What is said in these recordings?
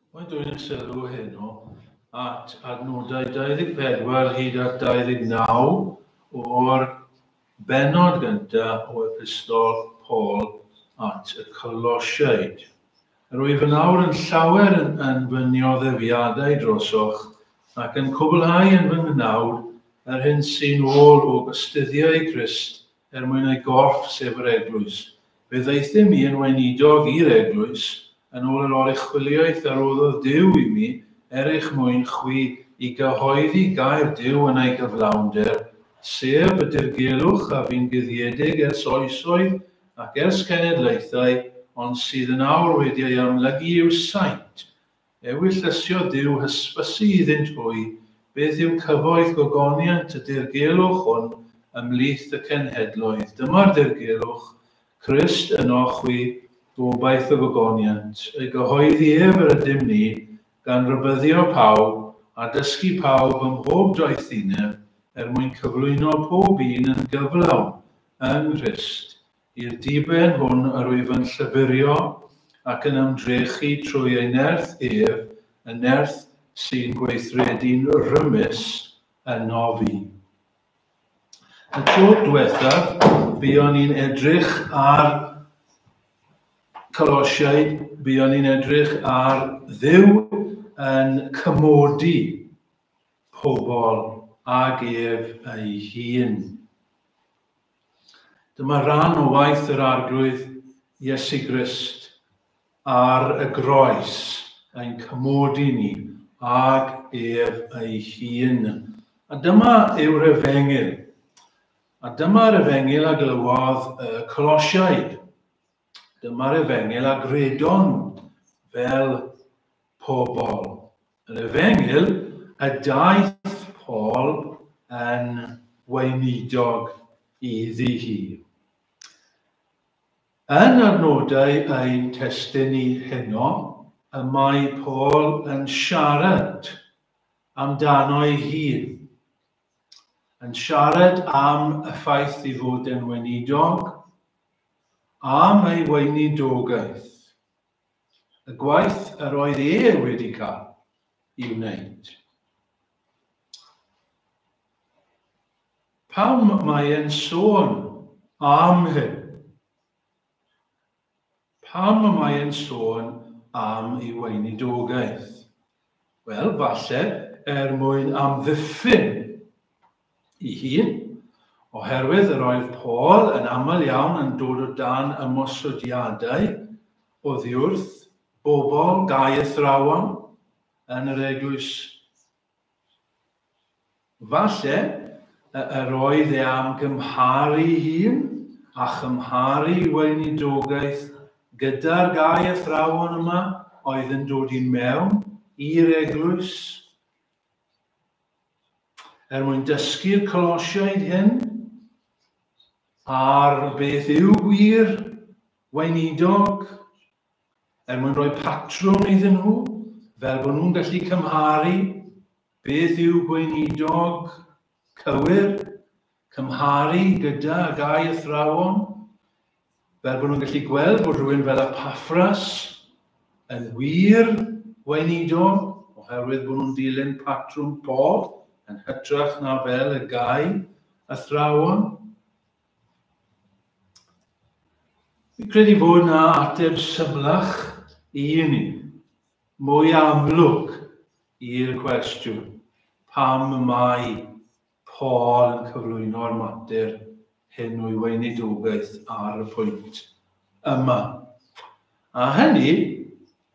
Mae'n dwyn y sylw heno at adnodau 24 hyd at 29 o'r bennod gyntaf o Epistol Paul at y Colosiaid. Yr wyf yn awr yn llawer yn, yn fy nioddefiadau drosoch ac yn cwblhau yn fy nghnawd yr hyn sy'n ôl o gystuddiau Crist er mwyn ei gorff, sef yr Eglwys. Fe ddaethum i yn weinidog i'r Eglwys, yn ôl yr oruchwyliaeth a roddodd Duw i mi, er eich mwyn chwi, i gyhoeddi gair Duw yn ei gyflawnder, sef y dirgelwch a fu'n guddiedig ers oesoedd ac ers cenedlaethau, ond sydd yn awr wedi ei amlygu i'w saint, Ewyllysio Duw hysbysu iddynt hwy beth yw cyfoeth gogoniant y dirgelwch hwn ymhlith y cenhedloedd. Dyma'r dirgelwch, Crist ynoch chwi, gobaith y gogoniant. Ei gyhoeddi ef yr ydym ni, gan rybuddio pawb, a dysgu pawb ym mhob doethineb, er mwyn cyflwyno pob un yn gyflawn yng Nghrist. I'r diben hwn yr wyf yn llyfurio ac yn ymdrechu trwy ei nerth ef, y nerth sy'n gweithredu'n rymus ynof fi. Y tro diwethaf, buon ni'n edrych ar Colosiaid, buon ni'n edrych ar Dduw yn cymodi pobl ag ef ei hun. Dyma ran o waith yr Arglwydd Iesu Grist ar y groes, ein cymodi ni ag ef ei hun. A dyma yw'r efengyl. A dyma'r efengyl a glywodd y Colosiaid. Dyma'r efengyl a gredon fel pobl. Yr efengyl y daeth Paul yn weinidog iddi hi. Yn adnodau ein testun ni heno, y mae Paul yn siarad amdano ei hun. Yn siarad am y ffaith ei fod yn weinidog, am ei weinidogaeth, y gwaith yr oedd e wedi cael i'w wneud. Pam mae e'n sôn am hyn? Pam mae e'n sôn am ei weinidogaeth? Wel, falle er mwyn amddiffyn ei hun, oherwydd yr oedd Paul yn aml iawn yn dod o dan ymosodiadau oddiwrth bobl gau athrawon yn yr eglwys. Falle yr oedd e am gymharu ei hun a chymharu ei weinidogaeth gyda'r gau athrawon yma oedd yn dod i mewn i'r eglwys. Er mwyn dysgu'r Colosiaid hyn ar beth yw gwir weinidog, er mwyn rhoi patrwm iddyn nhw, fel bod nhw'n gallu cymharu beth yw gweinidog cywir, cymharu gyda gau athrawon, fel bod nhw'n gallu gweld bod rhywun fel Epaffras yn wir weinidog, oherwydd bod nhw'n dilyn patrwm Paul yn hytrach na fel y gau athrawon. Fi'n credu fod na ateb symlach i ni, mwy amlwg i'r cwestiwn pam mae Paul yn cyflwyno'r mater hyn o'i weinidogaeth ar y pwynt yma. A hynny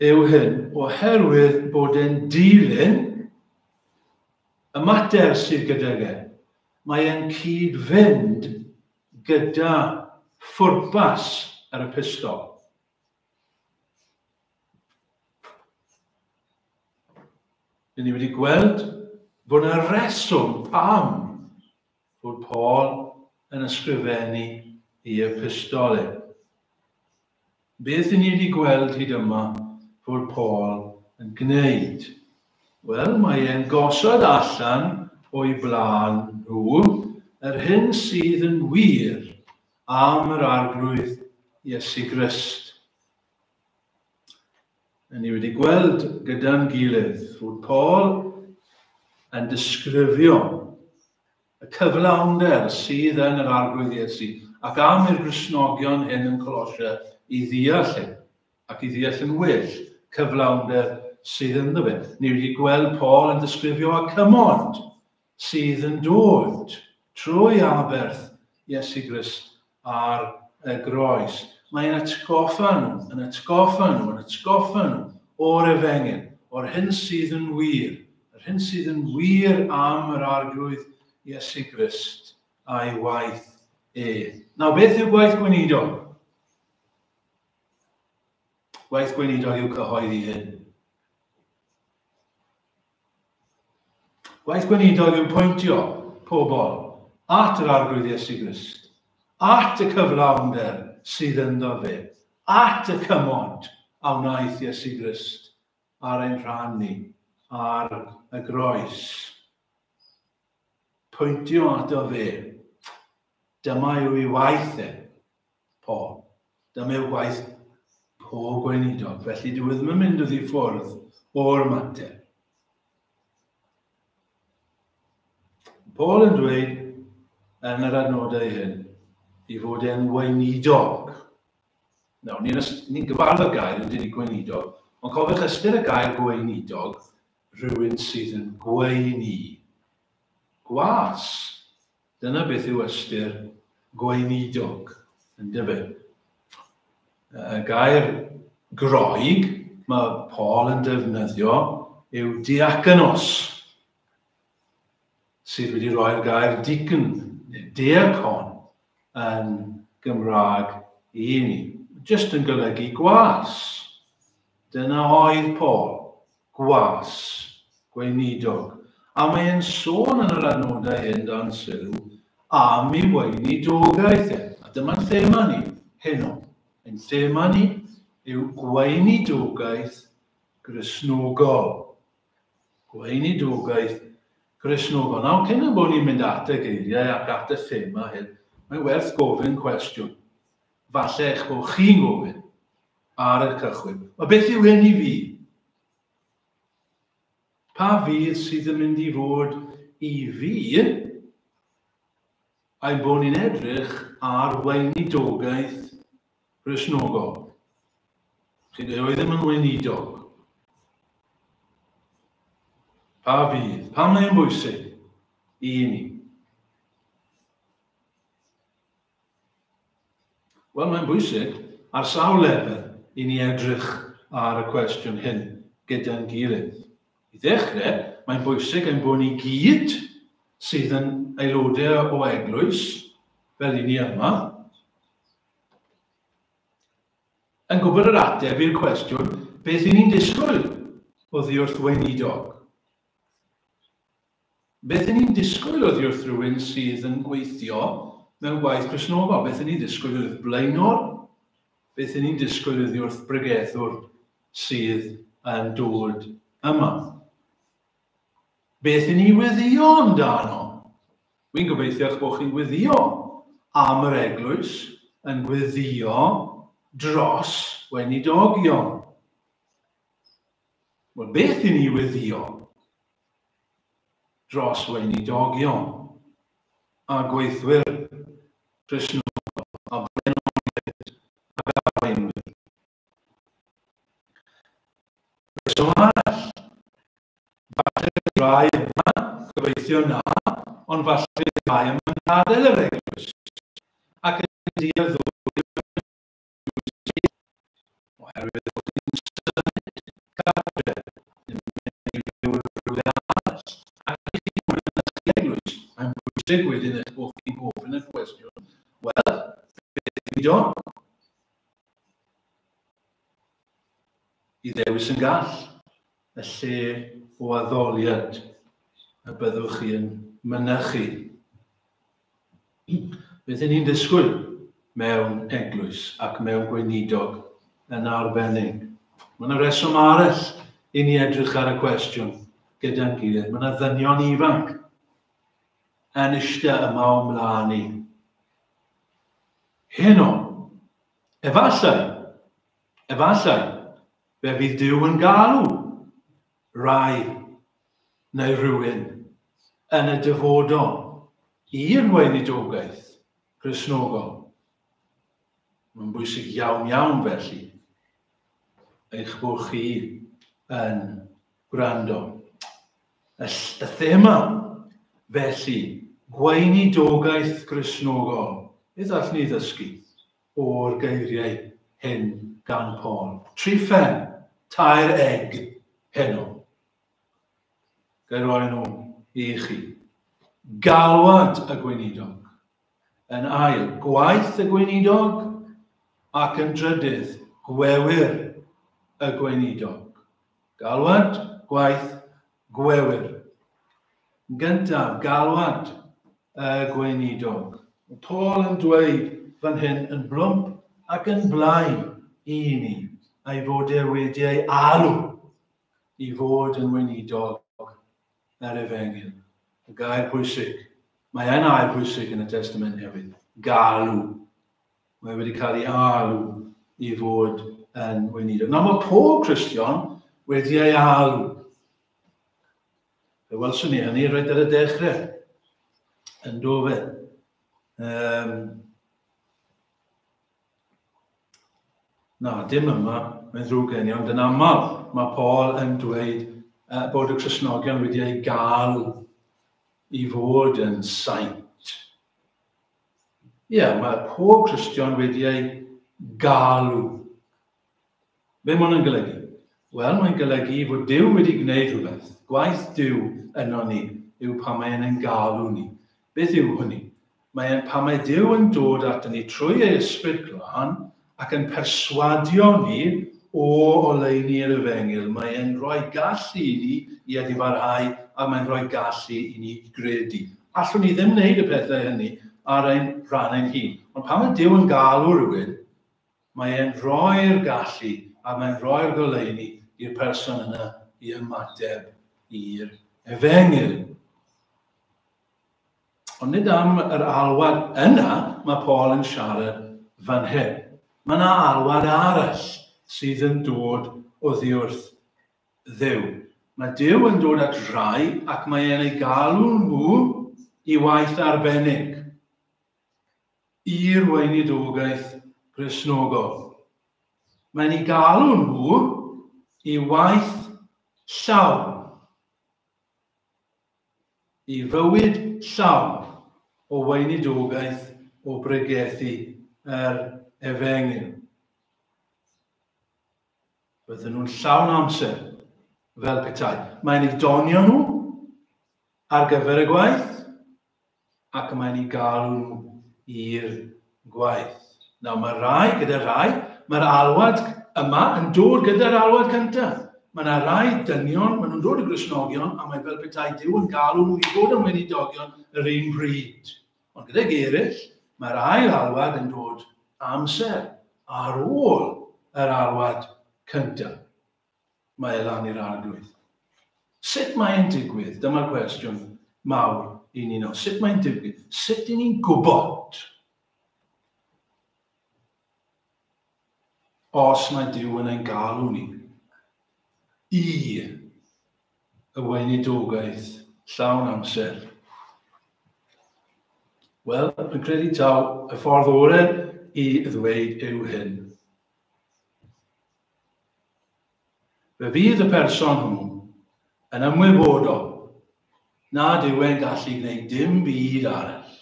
yw hyn oherwydd bod e'n dilyn y mater sydd gydag e. Mae e'n cyd-fynd gyda phwrpas yr epistol. Dyn ni wedi gweld bod yna reswm pam fod Paul yn ysgrifennu ei epistol e. Beth i ni wedi gweld hyd yma fod Paul yn gwneud? Wel, mae e'n gosod allan o'i blaen nhw yr hyn sydd yn wir am yr Arglwydd Iesu Grist. Ni wedi gweld gyda'n gilydd fod Paul yn disgrifio y cyflawnder sydd yn yr Arglwydd Iesu ac am i'r Gristnogion hyn yn Colosia i ddeall hyn ac i ddeall yn well cyflawnder sydd ynddo fe. Ni wedi gweld Paul yn disgrifio y cymod sydd yn dod trwy aberth Iesu Grist ar y groes. Mae'n atgoffa nhw, yn atgoffa nhw, yn atgoffa nhw o'r efengyl, o'r hyn sydd yn wir, yr hyn sydd yn wir am yr Arglwydd Iesu Grist a'i waith e. Nawr, beth yw gwaith gweinidog? Gwaith gweinidog yw cyhoeddi hyn. Gwaith gweinidog yw pwyntio pobl at yr Arglwydd Iesu Grist, at y cyflawnder sydd ynddo fe, at y cymod a wnaeth Iesu Grist ar ein rhan ni ar y groes. Pwyntio ato fe. Dyma yw ei waith e, Paul. Dyma yw gwaith pob gweinidog, felly dyw e ddim yn mynd oddi ffwrdd o'r mater. Paul yn dweud yn yr adnodau hyn i fod e'n weinidog. Nawr, ni'n ni gyfarwydd â'r gair yn dydi gweinidog, ond cofiwch ystyr y gair gweinidog, rhywun sydd yn gweini. Gwas. Dyna beth yw ystyr gweinidog, yndyfe? Y gair Groeg mae Paul yn defnyddio yw diakonos, sydd wedi rhoi'r gair deacon, neu diacon, yn Gymraeg i ni. Just yn golygu gwas. Dyna oedd Paul, gwas, gweinidog. A mae'n sôn yn yr adnodau hyn dan sylw am ei weinidogaeth e. A dyma'n thema ni heno. Ein thema ni yw gweinidogaeth Gristnogol. Gweinidogaeth Gristnogol. Nawr, cyn y bod ni'n mynd at y geiriau ac at y thema hyn, mae'n werth gofyn cwestiwn. Falle eich bod chi'n gofyn ar y cychwyn. Mae beth yw hyn i fi? Pa fydd sydd yn mynd i fod i fi ein bod ni'n edrych ar weinidogaeth Gristnogol? Chi dweud, oedd ddim yn weinidog. Pa fydd? Pam mae'n bwysig i ni? Wel, mae'n bwysig ar sawl lefel i ni edrych ar y cwestiwn hyn gyda'n gilydd. I ddechrau, mae'n bwysig ein bod ni gyd sydd yn aelodau o eglwys, fel i ni yma, yn gwybod yr ateb i'r cwestiwn beth i ni'n disgwyl oddi wrth weinidog. Beth 'y ni'n disgwyl oddi wrth rhywun sydd yn gweithio mewn gwaith Cristnogol? Beth 'y ni'n disgwyl oddi wrth blaenor? Beth 'y ni'n disgwyl oddi wrth bregethwr sydd yn dod yma? Beth 'y ni'n weddïo amdano? Wi'n gobeithio eich bod chi'n gweddio am yr eglwys, yn gweddio dros weinidogion. Wel, beth i ni weddio dros weinidogion a gweithwyr Cristnogol a blaenoriaid ac arweinwyr? Rheswm arall, falle bydd rai yma, gobeithio na, ond falle bydd rai yma'n gadael yr eglwys ac yn dueddol oherwydd bod chi'n symud cartre neu mynd i fyw yn rhywle arall ac i chi moyn mynychu eglwys, mae'n bwysig wedyn eich bod chi'n gofyn y cwestiwn, wel, beth yw do? I ddewis yn gall y lle o addoliad y byddwch chi yn mynychu. Beth 'y ni'n ddisgwyl mewn eglwys ac mewn gweinidog yn arbennig? Mae yna reswm arall i ni edrych ar y cwestiwn gyda'n gilydd. Mae yna ddynion ifanc yn eistedd yma o mlaen ni. Heno, efallai, efallai, Fe fydd Duw yn galw rai neu rhywun yn y dyfodol i'r weinidogaeth Gristnogol. Mae'n bwysig iawn iawn felly eich bod chi yn gwrando. Y, y thema felly, gweinidogaeth Gristnogol. Beth allwn ni ddysgu o'r geiriau hyn gan Paul? Trifen, tair egg heno. Ga i roi nhw i chi. Galwad y gweinidog. Yn ail, gwaith y gweinidog. Ac yn drydydd, gwewyr y gweinidog. Galwad, gwaith, gwewyr. Yn gyntaf, galwad y gweinidog. Mae Paul yn dweud fan hyn yn blwmp ac yn blaen i ni, a'i fod e wedi ei alw i fod yn weinidog yr efengyl. Y gair pwysig. Mae e'n air pwysig yn y Testament Newydd. Galw. Mae wedi cael ei alw i fod yn weinidog. Nawr mae pob Cristion wedi ei alw. Fe welson ni hynny reit ar y dechrau. Yn do fe. Um, Na, dim yma, mae'n ddrwg gen i, ond yn aml mae Paul yn dweud uh, bod y Cristnogion wedi ei gael i fod yn saint. Ie, yeah, mae pob Cristion wedi ei galw. Be mae hwnna'n golygu? Wel, mae'n golygu fod Duw wedi gwneud rhywbeth. Gwaith Duw yno ni yw pan mae e'n ein galw ni. Beth yw hynny? Mae e'n pan mae Duw yn dod ato ni trwy ei Ysbryd Glân ac yn perswadio ni o oleuni yr Efengyl. Mae e'n rhoi gallu i ni i edifarhau a mae'n rhoi gallu i ni gredu. Allwn ni ddim wneud y pethau hynny ar ein rhan ein hun. Ond pan mae Duw yn galw rhywun, Mae e'n rhoi'r gallu a mae'n rhoi'r goleuni i'r person yna i ymateb i'r efengyl. Ond nid am yr alwad yna mae Paul yn siarad fan hyn. Mae yna alwad arall sydd yn dod oddi wrth Dduw. Mae Duw yn dod at rai ac mae e'n eu galw nhw i waith arbennig. i'r weinidogaeth Gristnogol. Mae'n eu galw nhw i waith llawn, i fywyd llawn o weinidogaeth o bregethu yr efengyl. Bydden nhw'n llawn amser, fel petai. Mae'n eu donio nhw ar gyfer y gwaith, ac mae'n eu galw nhw i'r gwaith. Nawr, mae rai, gyda rai, mae'r alwad yma yn dod gyda'r alwad cyntaf. Mae yna rai dynion, maen nhw'n dod y Gristnogion, a mae fel petai Duw yn galw nhw i fod yn weinidogion yr un pryd. Ond gydag eraill, mae'r ail alwad yn dod amser ar ôl yr alwad cyntaf. Mae e lan i'r arglwydd. Sut mae'n digwydd? Dyma'r cwestiwn mawr i ni nawr. Sut mae'n digwydd? Sut i ni'n gwybod os mae Duw yn ein galw ni i y weinidogaeth llawn amser? Wel, yn credu taw y ffordd orau i ddweud yw hyn. Fe fydd y person hwnnw yn ymwybodol nad yw e'n gallu gwneud dim byd arall.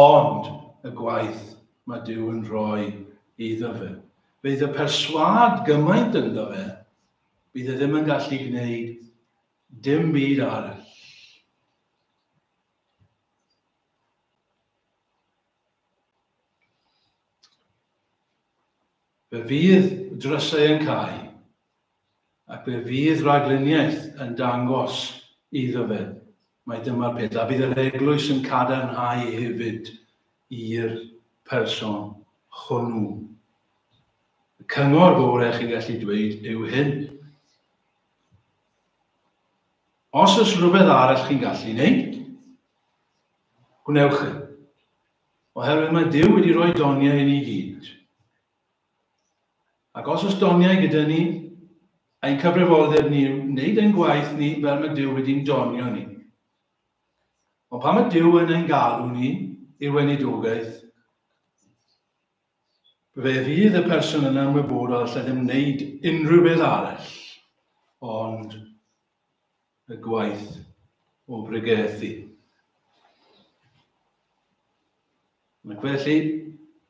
Ond y gwaith mae Duw yn rhoi iddo fe. Bydd y perswâd gymaint ynddo fe, bydd e ddim yn gallu gwneud dim byd arall. Fe fydd drysau yn cau, ac fe fydd rhagluniaeth yn dangos iddo fe mai dyma'r peth, a bydd yr eglwys yn cadarnhau hefyd i'r person hwnnw. Y cyngor gorau chi'n gallu dweud yw hyn. Os oes rhywbeth arall chi'n gallu wneud, gwnewch e. Oherwydd mae Duw wedi rhoi doniau i ni gyd. Ac os oes doniau gyda ni, ein cyfrifoldeb ni yw wneud ein gwaith ni fel mae Duw wedi'n donio ni. Ond pan mae Duw yn ein galw ni i'r weinidogaeth, fe fydd y person yna ymwybodol allai ddim wneud unrhyw beth arall ond y gwaith o bregethu. Ac felly,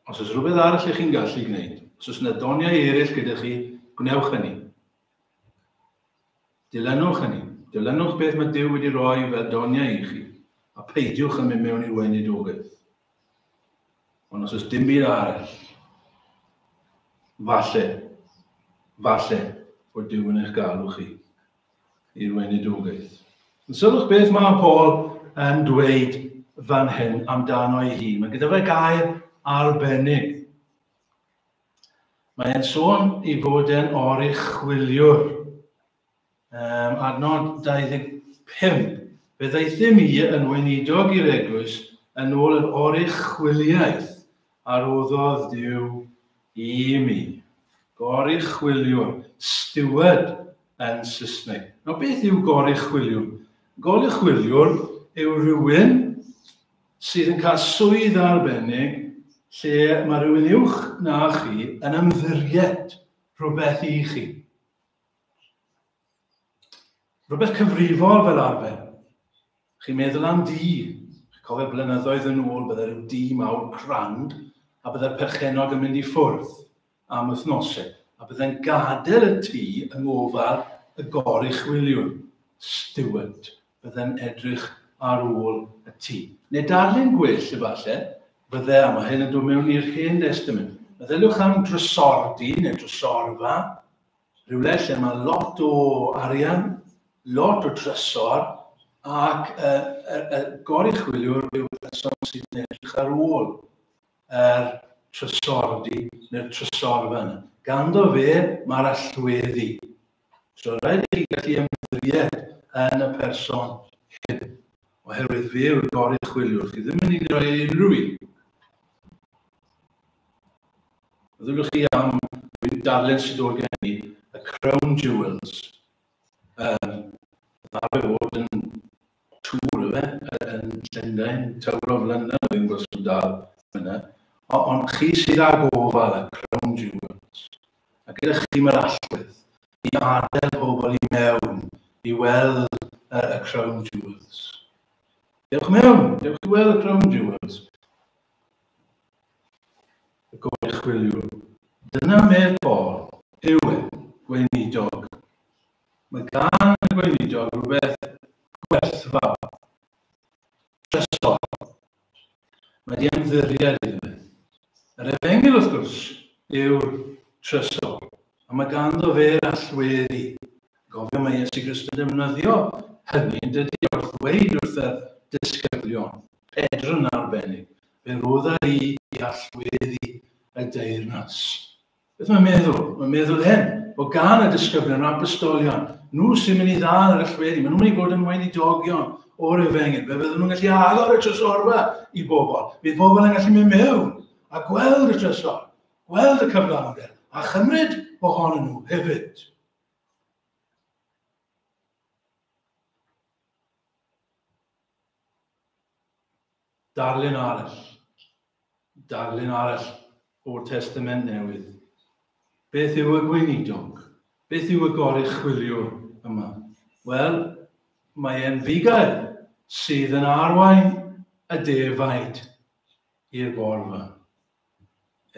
os oes rhywbeth arall ych chi'n gallu gwneud, os oes yna doniau eraill gyda chi, gwnewch hynny. Dilynwch hynny. Dilynwch beth mae Duw wedi rhoi fel doniau i chi, a peidiwch yn mynd mewn i'r weinidogaeth. Ond os oes dim byd arall, falle, falle bod Duw yn eich galw chi i'r weinidogaeth. Yn sylwch beth mae Paul yn dweud fan hyn amdano ei hun. Mae gyda fe gair arbennig. Mae e'n sôn i fod e'n oruchwyliwr. Adnod 25. Fe ddaethum i yn weinidog i'r eglwys yn ôl yr oruchwyliaeth a roddodd Duw i mi. Goruchwyliwr, steward yn Saesneg. Nawr beth yw goruchwyliwr? Goruchwyliwr yw rhywun sydd yn cael swydd arbennig lle mae rhywun uwch na chi yn ymddiried rhywbeth i chi. Rhywbeth cyfrifol fel arfer. Chi'n meddwl am dŷ. Chi'n cofio blynyddoedd yn ôl, bydde rhyw dŷ mawr crand, a bydde'r perchennog yn mynd i ffwrdd am wythnosau, a bydde'n gadael y tŷ yng ngofal y goruchwyliwr, steward, bydde'n edrych ar ôl y tŷ. Neu darlun gwell, efallai, fydde, a mae hyn yn dod mewn i'r Hen Destament, meddyliwch am drysordy neu drysorfa, Rhywle lle mae lot o arian, lot o drysor, ac y, y, y goruchwyliwr yw'r person sydd yn edrych ar ôl yr trysordy neu'r trysorfa yna. Ganddo fe mae'r allweddi. So rhaid i chi gallu ymddiried yn y person hyn, oherwydd fe yw'r goruchwyliwr. Chi ddim yn mynd i roi e unrhyw un. Meddylwch chi am darllen sydd dod gen i, y Crown Jewels. Arfer fod yn tŵr, efe, yn Llundain, Tower of London, dwi'n gwybod sy'n dal yna. Ond chi sydd â gofal y Crown Jewels. A gyda chi mae'r allwedd i adael pobl i mewn i weld y Crown Jewels. Dewch mewn, dewch i weld y Crown Jewels. Y goruchwyliwr. Dyna medd Paul, yw e, gweinidog. Mae gan y gweinidog rhywbeth gwerthfawr, trysor. Mae di ymddiried iddo fe. Yr efengyl, wrth gwrs, yw'r trysor. A mae ganddo fe'r allweddi. Gofio mae Iesu Grist yn defnyddio hynny yn dydy wrth ddweud wrth y disgyblion, Pedr yn arbennig, fe rodda i i allweddi y deyrnas. Beth mae'n meddwl? Mae'n meddwl hyn, bod gan y disgyblion, yr apostolion, nhw sy'n mynd i ddal yr allweddi, maen nhw'n mynd i fod yn weinidogion o'r efengyl, fe fydden nhw'n gallu agor y trysorfa i bobl, bydd bobl yn gallu mynd mewn a gweld y trysor, gweld y cyflawnder, a chymryd ohonyn nhw hefyd. Darlun arall. Darlun arall o'r Testament Newydd. Beth yw y gweinidog? Beth yw y goruchwyliwr yma? Wel, mae e'n fugail sydd yn arwain y defaid i'r borfa.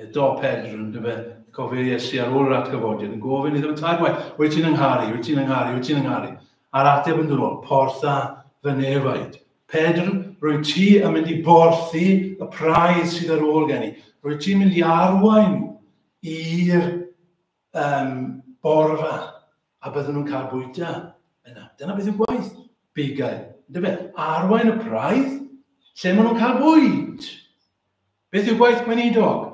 Eto Pedr, yn dyfe, cofio Iesu ar ôl yr atgyfodiad, yn gofyn iddo fe tair gwaith, wyt ti'n yngharu, wyt ti'n yngharu, wyt ti'n yngharu? A'r ateb yn dod ôl, portha fy nefaid. Pedr, rwy ti yn mynd i borthi y praidd sydd ar ôl gen i. Rwy ti'n mynd i arwain i'r um, borfa a byddwn nhw'n cael bwyta yna. Dyna beth yw gwaith bugail. Yndyfe? Arwain y praidd lle maen nhw'n cael bwyd. Beth yw gwaith gweinidog?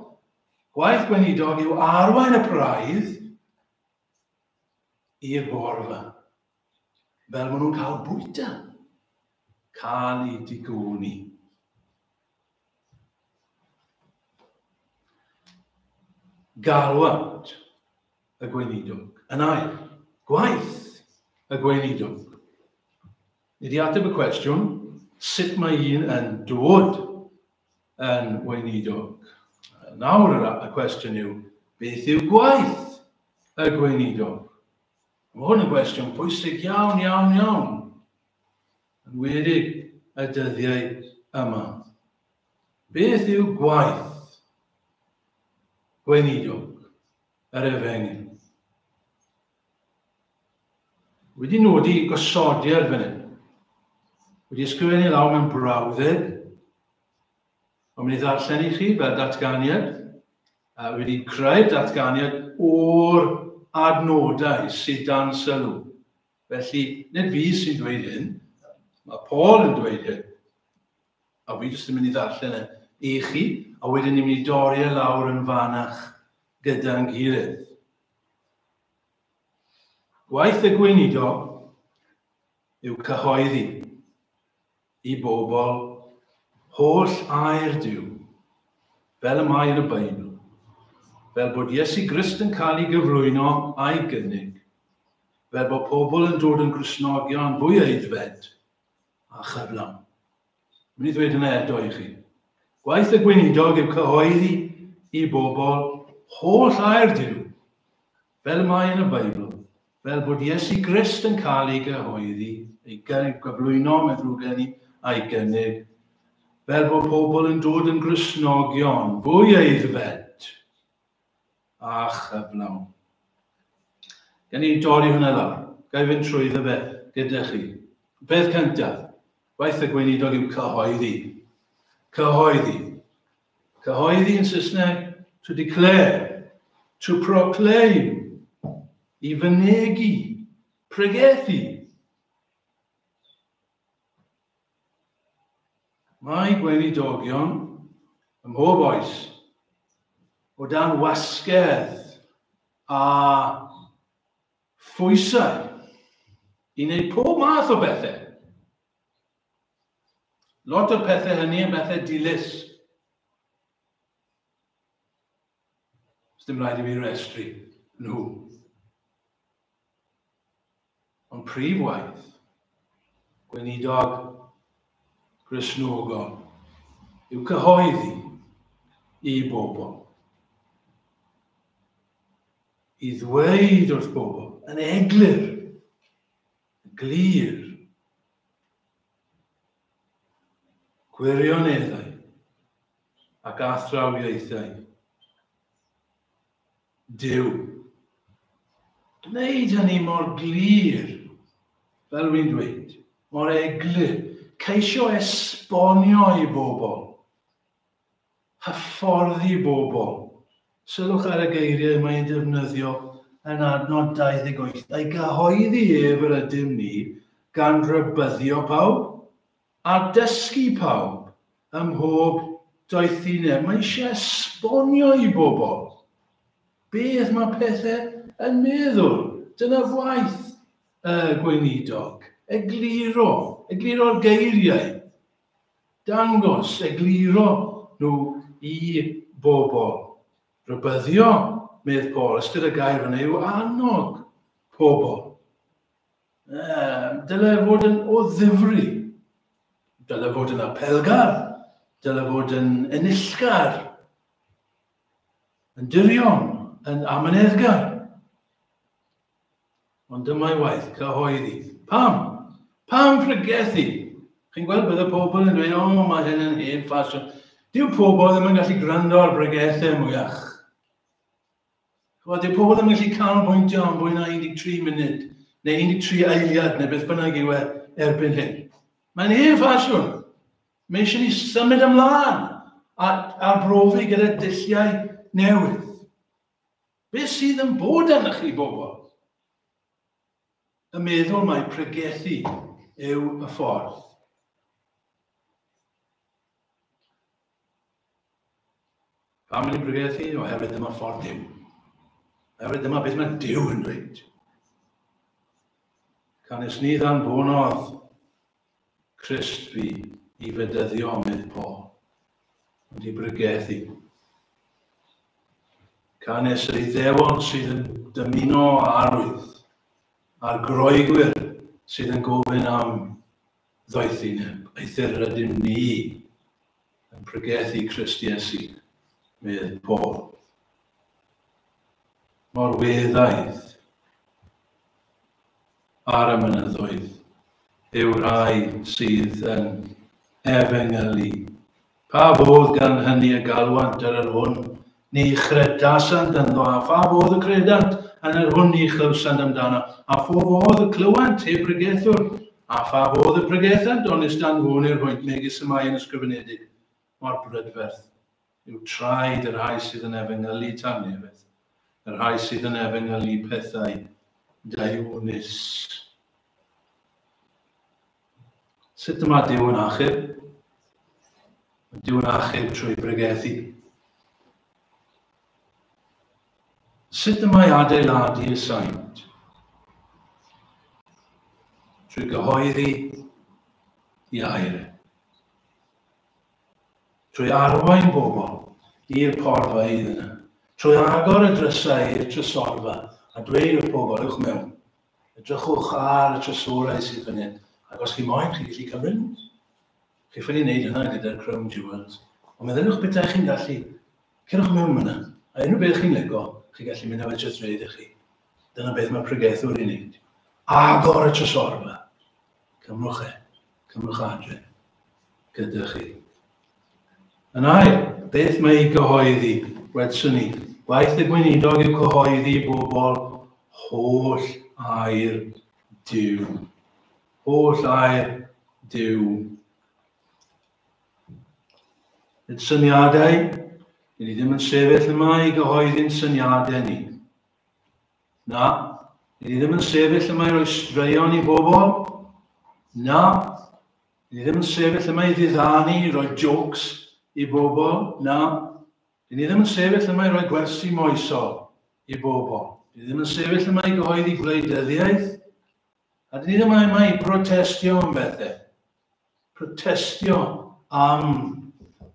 Gwaith gweinidog yw arwain y praidd i'r borfa. Fel maen nhw'n cael bwyta. Cael eu digoni. Galwad. y gweinidog. Yn ail, gwaith y gweinidog. Ni wedi ateb y cwestiwn, sut mae un yn dod yn weinidog? Nawr y cwestiwn yw, beth yw gwaith y gweinidog? Mae hwn yn gwestiwn pwysig iawn, iawn, iawn. Yn wedig y dyddiau yma. Beth yw gwaith gweinidog yr efengyl? Wedi nodi gosodiad fan hyn. Wedi ysgrifennu lawr mewn brawddeg. Ond mynd i ddarllen i chi fel datganiad. A wedi creu'r datganiad o'r adnodau sydd dan sylw. Felly, nid fi sy'n dweud hyn, mae Paul yn dweud hyn. A fi jyst yn mynd i ddarllen e i chi, a wedyn ni'n mynd i dorri e lawr yn fanach gyda'n gilydd. Gwaith y gweinidog yw cyhoeddi i bobl holl air Duw, fel y mae yn y Beibl, fel bod Iesu Grist yn cael ei gyflwyno a'i gynnig, fel bod pobl yn dod yn Gristnogion fwy aeddfed a chyflawn. Mynd i ddweud hynna eto i chi. Gwaith y gweinidog yw cyhoeddi i bobl holl air Duw, fel y mae yn y Beibl, fel bod Iesu Grist yn cael ei gyhoeddi, ei gyflwyno, mae'n ddrwg gen i, a'i gynnig, fel bod pobl yn dod yn Gristnogion fwy aeddfed a chyflawn. Gan i dorri hwnna lawr. Ga i fynd trwyddo fe gyda chi. Peth cyntaf, gwaith y gweinidog yw cyhoeddi. Cyhoeddi. Cyhoeddi yn Saesneg, to declare, to proclaim, i fynegi, pregethu. Mae gweinidogion ym mhob oes o dan wasgedd a phwysau i wneud pob math o bethau. Lot o'r pethau hynny yn bethau dilys. Dim rhaid i fi restru nhw. Ond prif waith, gweinidog Gristnogol, yw cyhoeddi i bobl. I ddweud wrth bobl yn eglur, yn glir, gwirioneddau ac athrawiaethau Duw. Gwneud hynny mor glir, fel wy'n dweud, mor eglur. Ceisio esbonio i bobl. Hyfforddi bobl. Sylwch ar y geiriau mae'n defnyddio yn adnod 28. A'i gyhoeddi ef yr ydym ni gan rybyddio pawb a dysgu pawb ym mhob doethineb. Mae eisiau esbonio i bobl beth mae pethau yn meddwl. Dyna waith y gweinidog. Egluro, egluro'r geiriau. Dangos, egluro nhw i bobl. Rhybyddio, medd Paul, ystyr y gair yna yw annog pobl. Dyle fod yn o ddifri. Dyle fod yn apelgar. Dyle fod yn enillgar. Yn dirion, yn amyneddgar. Ond dyma'i waith, cyhoeddi. Pam? Pam pregethu? Chi'n gweld bydde pobl yn dweud, o, mae hyn yn hen ffasiwn. Dyw pobl ddim yn gallu gwrando ar bregethau mwyach. Chymod, dyw pobl ddim yn gallu canolbwyntio am fwy na 13 munud, neu 13 eiliad, neu beth bynnag yw e erbyn hyn. Mae'n hen ffasiwn. Mae eisiau ni symud ymlaen a arbrofi gyda dulliau newydd. Beth sydd yn bod arnych chi, bobl? Y meddwl mai pregethu yw y ffordd. Pam yn pregethu? Oherwydd dyma ffordd Duw. Oherwydd dyma beth mae Duw yn dweud. Canys ni ddanfonodd Crist fi i fedyddio, medd Paul, ond i bregethu. Canys yr Iddewon sydd yn dymuno arwydd, a'r Groegwyr sydd yn gofyn am ddoethineb, eithr rydym ni yn pregethu Crist Iesu, medd Paul. Mor weddaidd ar y mynyddoedd yw rhai sydd yn efengylu. Pa fodd gan hynny y galwant ar yr hwn ni chredasant ynddo, a pha fodd y credant yn yr hwn ni chlywsant amdano, a pho fodd y clywant heb bregethwr, a pha fodd y pregethant onis danfonir hwynt megis y mae yn ysgrifenedig, mor brydferth yw traed y rhai sydd yn efengylu tangnefedd, y rhai sydd yn efengylu pethau daionus. Sut y mae Duw yn achub? Mae Duw yn achub trwy bregethu. Sut y mae adeiladu y saint? Trwy gyhoeddi i air. Trwy arwain bobl i'r porfeydd yna, trwy agor y drysau i'r trysorfa a dweud wrth bobl, ewch mewn, edrychwch ar y trysorau sydd fan hyn, ac os chi moyn, chi'n gallu cymryd nhw. Chi ffili wneud hynna gyda'r Crown Jewels. Ond meddyliwch bethau chi'n gallu, cerwch mewn yna, a unrhyw beth chi'n lico, chi'n gallu mynd â fe jyst rhaid i chi. Dyna beth mae pregethwr i wneud. Agor y trysorfa. Cymrwch e. Cymrwch adre gyda chi. Yn ail, beth mae ei gyhoeddi? Wedson ni, gwaith y gweinidog yw cyhoeddi i bobl holl air Duw. Holl air Duw. Nid syniadau, ni ddim yn sefyll yma i gyhoeddi'n syniadau ni. Na, ni ddim yn sefyll yma i roi straeon i bobl. Na, ni ddim yn sefyll yma i ddiddanu, i roi jokes i bobl. Na, ni ddim yn sefyll yma i roi gwersi moesol i bobl. Ni ddim yn sefyll yma i gyhoeddi gwleidyddiaeth. A dyn ni ddim yma i brotestio am bethau. Protestio am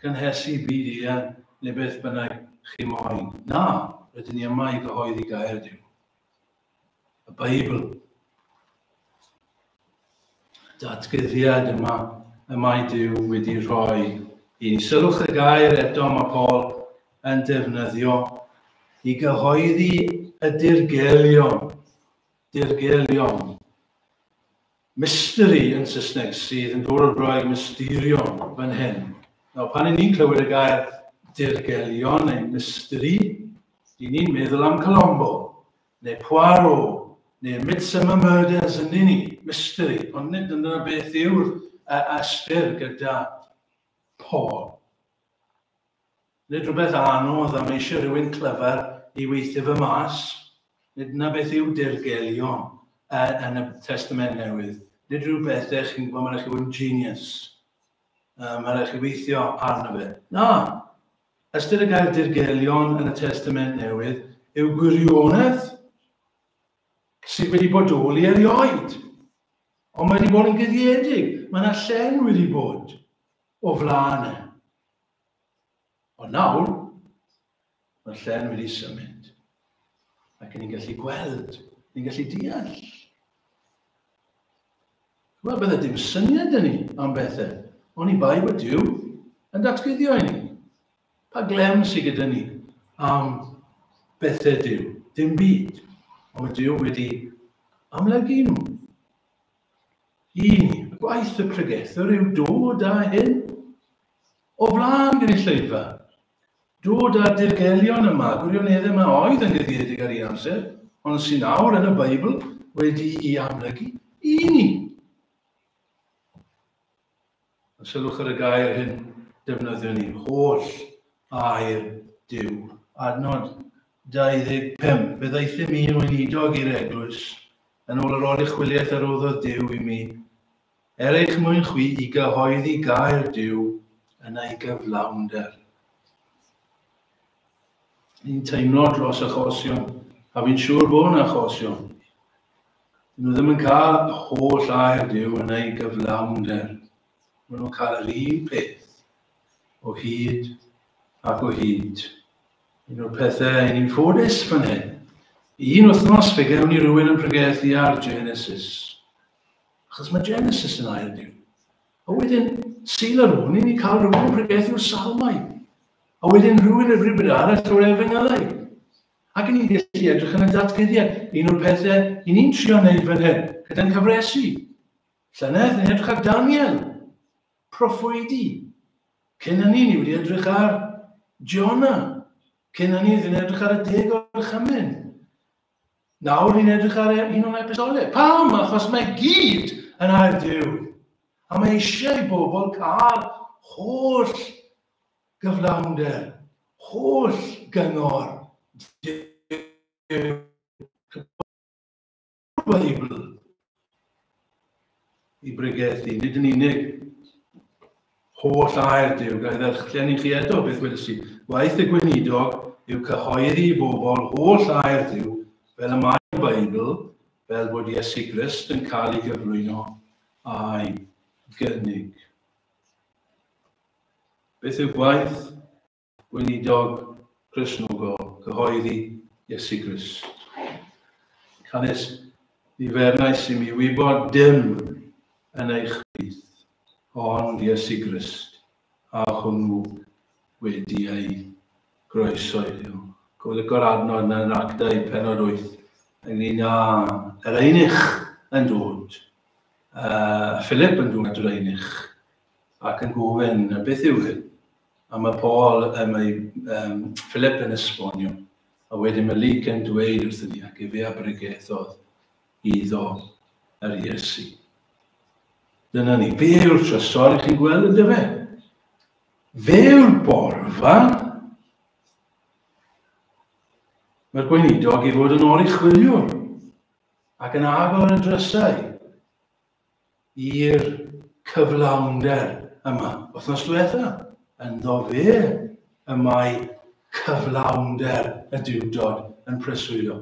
gynhesu byd eang neu beth bynnag chi moyn. Na, rydyn ni yma i gyhoeddi gair Duw. Y Beibl. Datguddiad yma y mae Duw wedi rhoi i ni. Sylwch y gair eto mae Paul yn defnyddio i gyhoeddi y dirgelion. Dirgelion. Mystery yn Saesneg sydd yn dod o'r Groeg mysterion fan hyn. Nawr, pan i ni'n clywed y gair dirgelion neu mystery, i ni'n meddwl am Colombo, neu Poirot, neu Midsummer Murders yn ni, mystery. Ond nid dyna beth yw'r ystyr gyda Paul. Nid rhywbeth anodd am eisiau rhywun clyfar i weithio fy mas. Nid yna beth yw dirgelion yn y Testament Newydd. Nid rhyw bethau chi'n gwybod, mae'n rhaid chi fod yn genius. Mae'n rhaid chi weithio arno fe. Na! Ystyr y gair dirgelion yn y Testament Newydd yw gwirionedd sydd wedi bodoli erioed. Ond mae wedi bod yn guddiedig. Mae yna llen wedi bod o flaen e. Ond nawr, mae'r llen wedi symud. Ac ni'n gallu gweld, ni'n gallu deall. Wel, bydde dim syniad yn ni am bethau, ond i bai bod Duw yn datguddio i ni. Pa glem sydd gyda ni am bethau Duw? Dim byd. Ond mae Duw wedi amlygu nhw. Un, gwaith y pregethwr yw dod â hyn o flaen gynulleidfa. Dod â'r dirgelion yma, gwirioneddau yma oedd yn guddiedig ar un amser, ond sy'n awr yn y Beibl wedi'i amlygu i ni. A sylwch ar y gair hyn, defnyddio ni, holl air Duw. Adnod 25. Fe ddaethum i yn weinidog i'r eglwys, yn ôl yr oruchwyliaeth a roddodd Duw i mi, er eich mwyn chwi i gyhoeddi gair Duw yn ei gyflawnder. Ni'n teimlo dros achosion, a fi'n siŵr bod yna achosion. Dyn nhw ddim yn cael holl air Duw yn ei gyflawnder. Maen nhw'n cael yr un peth o hyd ac o hyd. Un o'r pethau i ni'n ffodus fan hyn. Un wythnos fe gewn ni rhywun yn pregethu ar Genesis. Achos mae Genesis yn air Duw. A wedyn, Sul ar ôl, ni'n cael rhywun yn pregethu o'r Salmau. A wedyn rhywun yn rhywbeth arall o'r Efengylau. Ac ni'n gallu edrych yn y datguddiad. Un o'r pethau i ni'n trio wneud fan hyn, gyda'n cyfresu. Llynedd, ni'n edrych ar Daniel, proffwydi. Cyn hynny, ni wedi edrych ar Jonah. Cyn hynny, ni'n edrych ar y deg orchymyn. Nawr ni'n edrych ar un o'n episolau. Pam? Achos mae gyd yn air Duw. A mae eisiau i bobl cael holl gyflawnder, holl gyngor Duw. Beibl i bregethu, nid yn unig holl air Duw, ga i ddarllen i chi eto beth wedes i. Gwaith y gweinidog yw cyhoeddi i bobl holl air Duw fel y mae'r Beibl, fel bod Iesu Grist yn cael ei gyflwyno a'i gynnig. Beth yw gwaith Gweinidog Cristnogol, cyhoeddi Iesu Grist. Canys ni fernais i mi wybod dim yn eich plith, ond Iesu Grist, a hwnnw wedi ei groesoelio. Golygo'r adnod yna yn Actau penod 8 ynglyn â yr einych yn dod, Philip yn dod at yr einych ac yn gofyn, beth yw hyn? A mae Paul, mae Philip yn esbonio, a wedyn mae Luke yn dweud wrthyn ni, ac efe a bregethodd iddo yr Iesu. Dyna ni, fe yw'r trysor i chi'n gweld ynddo fe? Fe yw'r borfa. Mae'r gweinidog i fod yn oruchwyliwr ac yn agor y drysau i'r cyflawnder yma. Wythnos diwetha, ynddo fe y mae cyflawnder y Duwdod yn preswylio.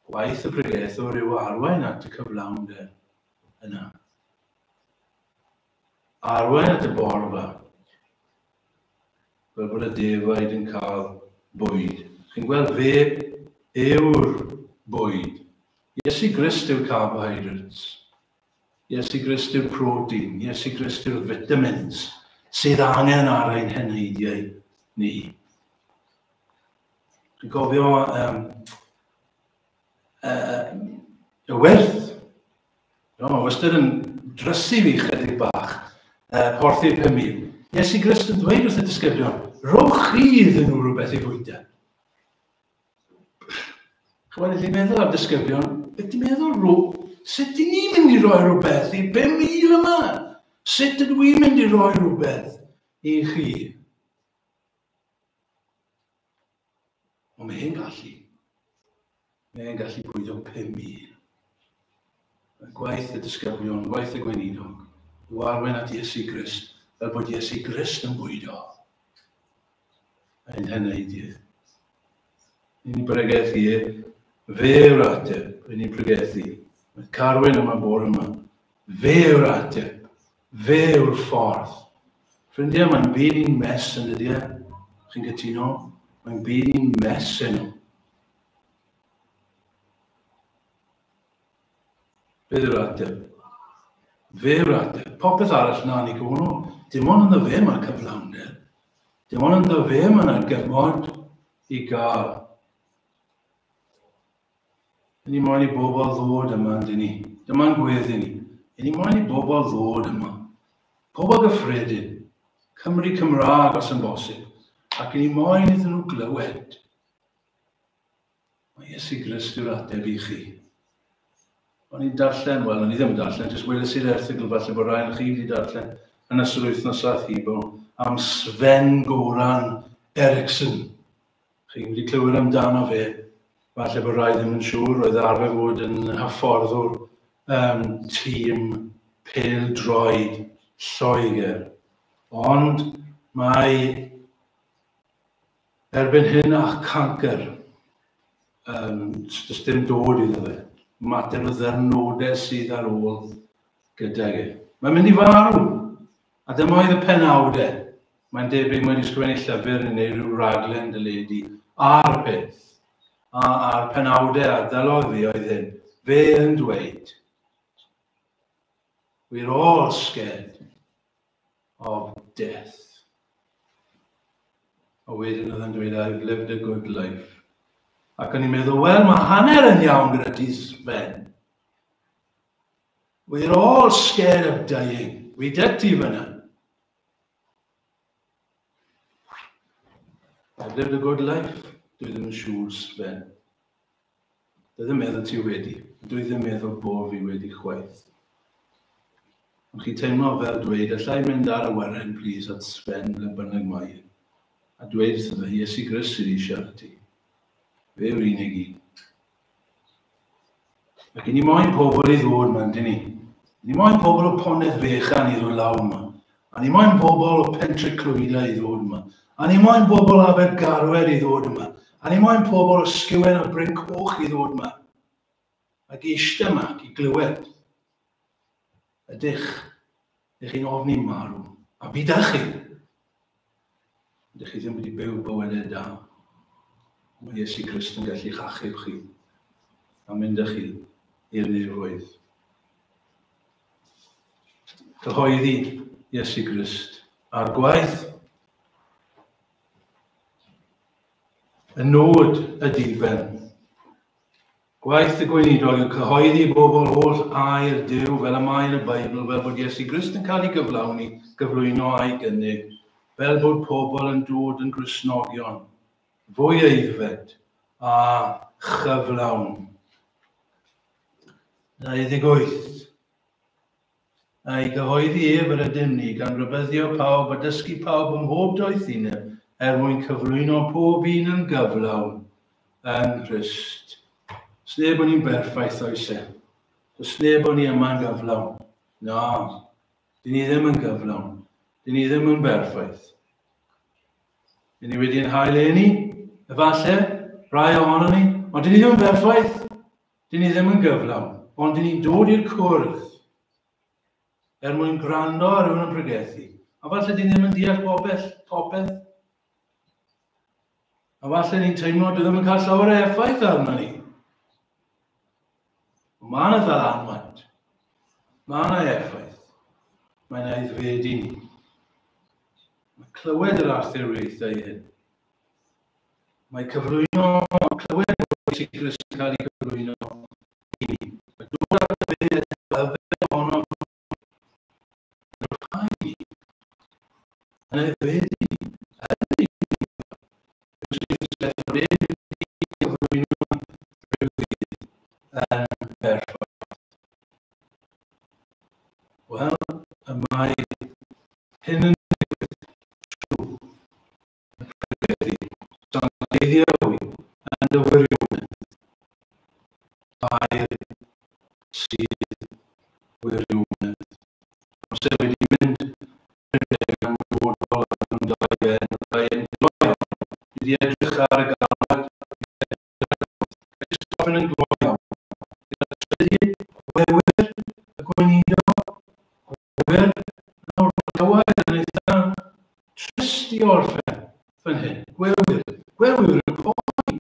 Gwaith y pregethwr yw arwain at y cyflawnder yna. Arwain at y borfa, fel bod y defaid yn cael bwyd. Chi'n gweld fe yw'r bwyd. Iesu Grist yw'r carbohydrates. Iesu Grist yw'r protein. Iesu Grist yw'r vitamins sydd angen ar ein heneidiau ni. Chi'n cofio y wyrth? No, mae wastad yn drysu fi chydig bach, porthi'r 5,000. Iesu Grist yn dweud wrth y disgyblion, rhowch chi iddyn nhw rhywbeth i fwyta. Chymod, i meddwl am disgyblion, beth ti'n meddwl, rho, sut ydyn ni'n mynd i roi rhywbeth i 5,000 yma? Sut ydw i'n mynd i roi rhywbeth i chi? Ond mae e'n gallu. Mae e'n gallu bwydo 5,000. Mae gwaith y disgyblion, gwaith y gweinidog, yw arwain at Iesu Grist, fel bod Iesu Grist yn bwydo ein heneidydd. Ni'n pregethu e, fe yw'r ateb, ni'n pregethu. Mae Carwyn yma bore yma. Fe yw'r ateb, fe yw'r ffordd. Ffrindiau, mae'n byd i'n mess yn dydy e? Chi'n cytuno? Mae'n byd i'n mess heno. Beth yw'r ateb? Fe yw'r ateb. Popeth arall na ni gofyn Dim ond ynddo fe mae cyflawnder. Dim ond ynddo fe mae yna gymod i gael. Ni moyn i bobl ddod yma, yndyn ni. Dyma'n gweddi ni. Ni moyn i bobl ddod yma. Pobl gyffredin. Cymru Cymraeg os yn bosib. Ac ni moyn iddyn nhw glywed. Mae Iesu Grist yw'r ateb i chi. O'n i'n darllen, wel, o'n i ddim yn darllen, jyst weles i'r erthygl falle bod rhai chi wedi darllen yn ystod wythnos ath hibo am Sven Goran Eriksson. Chi wedi clywed amdano fe, falle bod rhai ddim yn siŵr, roedd arfer fod yn hyfforddwr tîm pêl-droed Lloegr. Ond mae erbyn hyn â cancr, does dim dod iddo fe. Mater o ddyrnodau sydd ar ôl gydag e. Mae'n mynd i farw. A dyma oedd y penawdau. Mae'n debyg mae wedi sgrifennu llyfr neu wneud rhyw raglen deledu a'r peth. A'r penawdau a ddylodd fi oedd hyn. Fe yn dweud, "We're all scared of death." A wedyn oedd yn dweud, "I've lived a good life." Ac o'n i'n meddwl, wel, mae hanner yn iawn gyda ti, Sven. We're all scared of dying. Wi 'da ti fyna. I've lived a good life. Dwi ddim yn siŵr, Sven. Dwi ddim meddwl ti wedi. Dwi ddim meddwl bod fi wedi chwaith. Ond chi'n teimlo fel dweud, allai mynd ar awyren, please, at Sven, ble bynnag mae e. A dweud wrtho fe, Iesu Grist sydd eisiau siarad ti. Fe yw'r unig un. Ac i ni moyn pobl i ddod yma, yndyn ni? Ni moyn pobl o Ponedd Fechan i ddod lawr yma. A ni moyn pobl o Pentre Clwydau i ddod yma. A ni moyn pobl o Abergarwer i ddod yma. A ni moyn pobl o Sgiwen a Bryn Coch i ddod yma. Ac eistedd yma ac i glywed. Ydych, ydych chi'n ofni marw? A fi da chi. Ydych chi ddim wedi byw bywydau da. Mae Iesu Grist yn gallu'ch achub chi a mynd â chi i'r nefoedd. Cyhoeddi Iesu Grist a'r gwaith. Y nod y diben. Gwaith y gweinidog yw cyhoeddi i bobl holl air Duw fel y mae yn y Beibl, fel bod Iesu Grist yn cael ei gyflawni, gyflwyno a'i gynnig, fel bod pobl yn dod yn Gristnogion, fwy aeddfed a chyflawn. 28. A'i gyhoeddi ef yr ydym ni, gan rybuddio pawb a dysgu pawb ym mhob doethineb, er mwyn cyflwyno pob un yn gyflawn yng Nghrist. Does neb o'n ni'n berffaith, oes e? Does neb o'n ni yma'n gyflawn. Na, dyn ni ddim yn gyflawn. Dyn ni ddim yn berffaith. Dyn ni wedi ein hail eni, efallai, rai ohono ni, ond dyn ni ddim yn berffaith. Dyn ni ddim yn gyflawn, ond dyn ni'n dod i'r cwrdd er mwyn gwrando ar rhywun yn pregethu. A falle dyn ni ddim yn deall popeth, popeth. A falle ni'n teimlo dwi ddim yn cael llawer o effaith arno ni. Ond mae yna ddylanwad. Mae yna effaith. Mae'n aeddfedu ni. Mae clywed yr arthuriaethau hyn. Mae cyflwyno, clywed bod Iesu Grist yn cael ei gyflwyno i ni. Mae dod at y byd yfed ohono yn rhai ni. Yn aeddfedu ni. Yn ei gyflwyno rhyw ddydd yn berffaith. Wel, y mae hyn yn digwydd trwy y pregethu sancteiddio hwy yn dy wirionedd. Air sydd wirionedd. Amser wedi mynd rhedeg am fodol am dau ben, dau yn gloi iawn. Wedi edrych ar y galwad, gofyn yn gloi iawn. Gyda trydydd, gwewyr, y gweinidog, gwewyr, nawr gywair yn eitha trist i orffen fan hyn. Gwewyr, gwewyr yn poeni.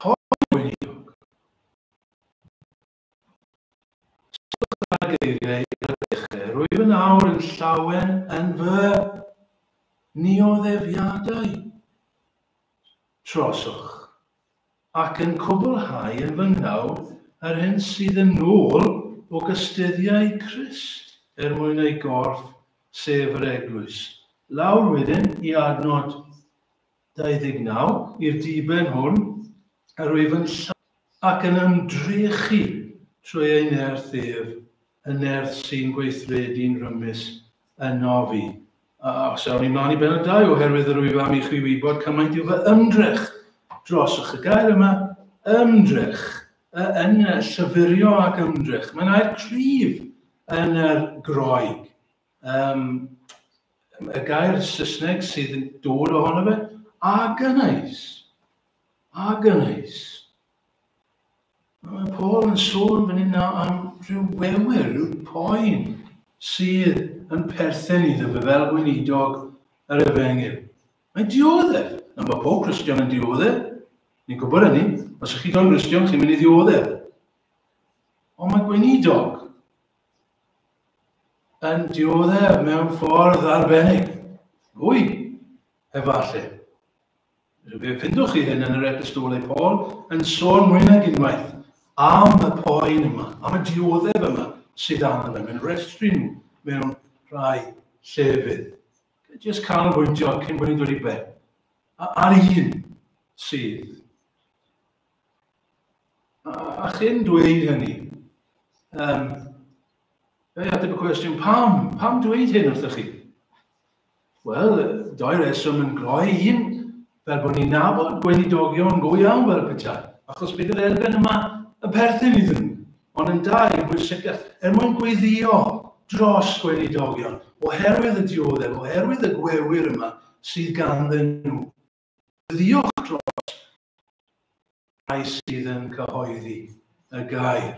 Poeni gweinidog. Sylwch ar geiriau ar y dechrau. Rwyf yn awr yn llawen yn fy nioddefiadau trosoch, ac yn cwblhau yn fy nghnawd yr hyn sydd yn ôl o gystuddiau Crist er mwyn ei gorff, sef yr eglwys. Lawr wedyn i adnod 29, i'r diben hwn, yr wyf yn ac yn ymdrechu trwy ei nerth ef, y nerth sy'n gweithredu'n rymus yno fi. A os awn ni mlaen i benod 2, oherwydd yr wyf am i chwi wybod cymaint yw fy ymdrech drosoch. Y gair yma, ymdrech, yn llyfurio ac ymdrech. Mae'n air cryf yn yr Groeg. Y gair Saesneg sydd yn dod ohono fe, agonize. Agonize. Mae Paul yn sôn fan hyn am rhyw wewyr, rhyw poen sydd yn perthyn iddo fe fel gweinidog yr efengyl. Mae'n dioddef. Na, mae pob Cristion yn dioddef. Ni'n gwybod hynny. Os ych chi'n dod yn Gristion, chi'n mynd i ddioddef. Ond mae gweinidog yn dioddef mewn ffordd arbennig. Fwy, efallai. Fe ffindwch chi hyn yn yr epistolau Paul yn sôn mwy nag unwaith am y poen yma, am y dioddef yma sydd arno fe. Mae'n restru nhw mewn rhai llefydd. Jyst canolbwyntio cyn bod ni'n dod i ben. Ar un sydd. A chyn dweud hynny, fe ateb y cwestiwn, pam? Pam dweud hyn wrthych chi? Wel, doi reswm yn gloi. Un, fel bod ni'n nabod gweinidogion go iawn fel petai, achos bydd yr elfen yma yn perthyn iddyn nhw. Ond yn dau, yn bwysicach, er mwyn gweddïo dros gweinidogion, oherwydd y dioddef, oherwydd y gwewyr yma sydd ganddyn nhw. Gweddïwch dros rhai sydd yn cyhoeddi y gair.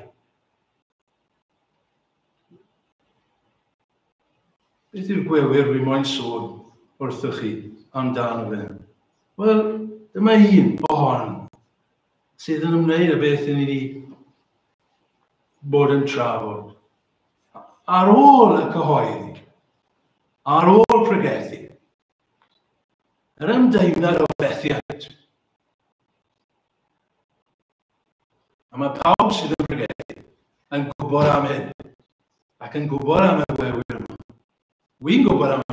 Beth yw'r gwewyr rwy moyn sôn wrthych chi amdano fe? Wel, dyma un ohon sydd yn ymwneud â beth ni wedi bod yn trafod. Ar ôl y cyhoeddi, ar ôl pregethu, yr ymdeimlad o fethiant. A mae pawb sydd yn pregethu yn gwybod am hyn, ac yn gwybod am y gwewyr yma. Wy'n gwybod am